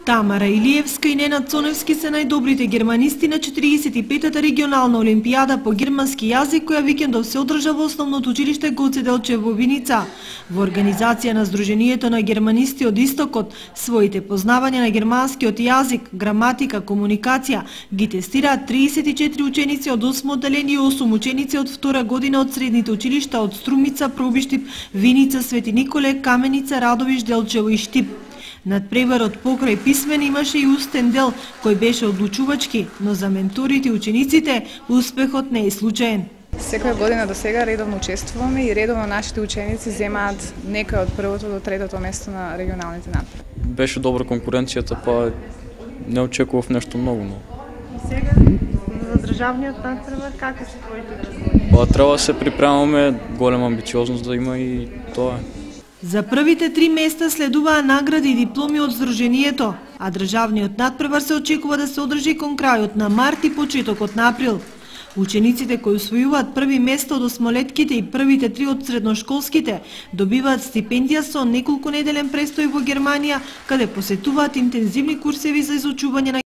Тамара Илиевска и Ненад Цоневски се најдобрите германисти на 45-та регионална олимпијада по германски јазик, која викендов се одржа во основното училиште Гоце Делчев во Виница. Во организација на Сдруженијето на германисти од Истокот, своите познавања на германскиот јазик, граматика, комуникација ги тестираат 34 ученици од 8 одделение и 8 ученици од втора година од средните училишта од Струмица, Пробиштип, Виница, Свети Николе, Каменица, Радовиш, Делчево и Штип. Надпреварот покрај писмен имаше и устен дел, кој беше одлучувачки, но за менторите и учениците успехот не е случаен. Секоја година до сега редовно учествуваме и редовно нашите ученици земаат некој од првото до третото место на регионалните надпревари. Беше добра конкуренцијата, па не очекував нешто многу, но. И сега за државниот надпревар какви се твоите очекувања? Па треба да се припремаме, голема амбициозност да има и тоа. За првите 3 места следуваа награди и дипломи од Сдруженијето, а државниот надпревар се очекува да се одржи кон крајот на март и почетокот на април. Учениците кои усвојуваат први место од осмолетките и првите 3 од средношколските добиваат стипендија со неколку неделен престој во Германија, каде посетуваат интензивни курсеви за изучување на